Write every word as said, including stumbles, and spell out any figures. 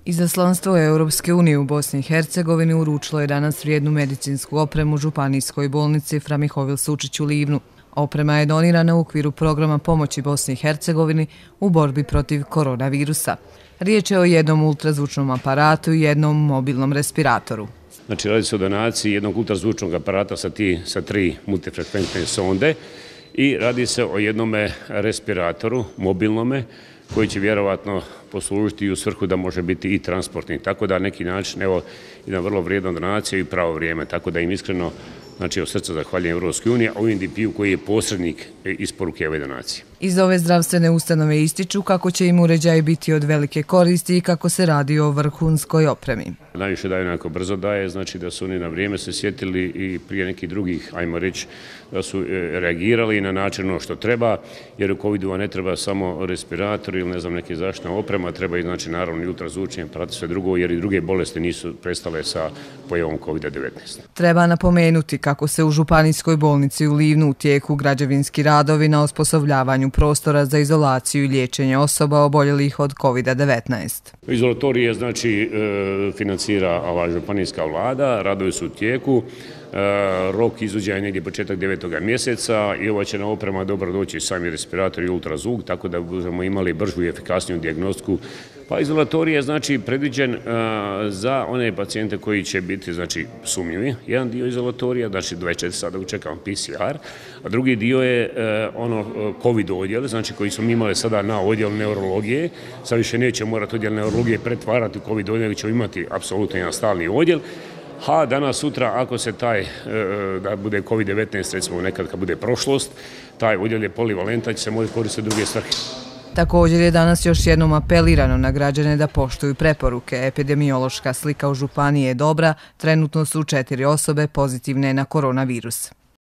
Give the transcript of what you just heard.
Izaslanstvo Europske unije u Bosni i Hercegovini uručilo je danas vrijednu medicinsku opremu županijskoj bolnici Fra Mihovil Sučić u Livnu. Oprema je donirana u okviru programa pomoći Bosni i Hercegovini u borbi protiv koronavirusa. Riječ je o jednom ultrazvučnom aparatu i jednom mobilnom respiratoru. Znači, radi se o donaciji jednog ultrazvučnog aparata sa, ti, sa tri multifrekventne sonde i radi se o jednome respiratoru, mobilnome, koji će vjerovatno poslužiti i u svrhu da može biti i transportni. Tako da na neki način, evo, jedna vrlo vrijedna donacija i pravo vrijeme. Tako da im iskreno, znači, od srca zahvaljujem Europskoj uniji, a U N D P-u koji je posrednik isporuke ove donacije. Iz ove zdravstvene ustanove ističu kako će im uređaj biti od velike koristi i kako se radi o vrhunskoj opremi. Najviše daje onako brzo daje, znači da su oni na vrijeme se sjetili i prije nekih drugih, ajmo reći, da su reagirali na način ono što treba, jer u covidu ne treba samo respirator ili ne znam neke zaštitna oprema, treba i znači naravno i ultrazvučni aparati, sve drugo, jer i druge bolesti nisu prestale sa pojavom kovida devetnaest. Treba napomenuti kako se u županijskoj bolnici u Livnu u tijeku građevinski radovi na osposobljavanju prostora za izolaciju i liječenje osoba oboljelih od kovida devetnaest. Izolatorije znači financira ova županijska vlada, radovi su u tijeku, rok izvođenja je negdje početak devetog mjeseca i ova će na oprema dobro doći sami respirator i ultrazvuk, tako da budemo imali bržu i efikasniju dijagnostiku. Pa izolatorij je znači predviđen za one pacijente koji će biti znači sumnjivi. Jedan dio izolatorija, znači dvadeset četiri sata čekamo P C R, a drugi dio je ono COVID odjel, znači koji smo imali sada na odjel neurologije. Sad više neće morati odjel neurologije pretvarati u COVID odjel, ćemo imati apsolutno jedan stalni odjel. A danas, sutra, ako se taj, da bude COVID devetnaest, recimo nekad kad bude prošlost, taj odjel je polivalentan, će se moći koristiti druge svrhe. Također je danas još jednom apelirano na građane da poštuju preporuke. Epidemiološka slika u županiji je dobra, trenutno su četiri osobe pozitivne na koronavirus.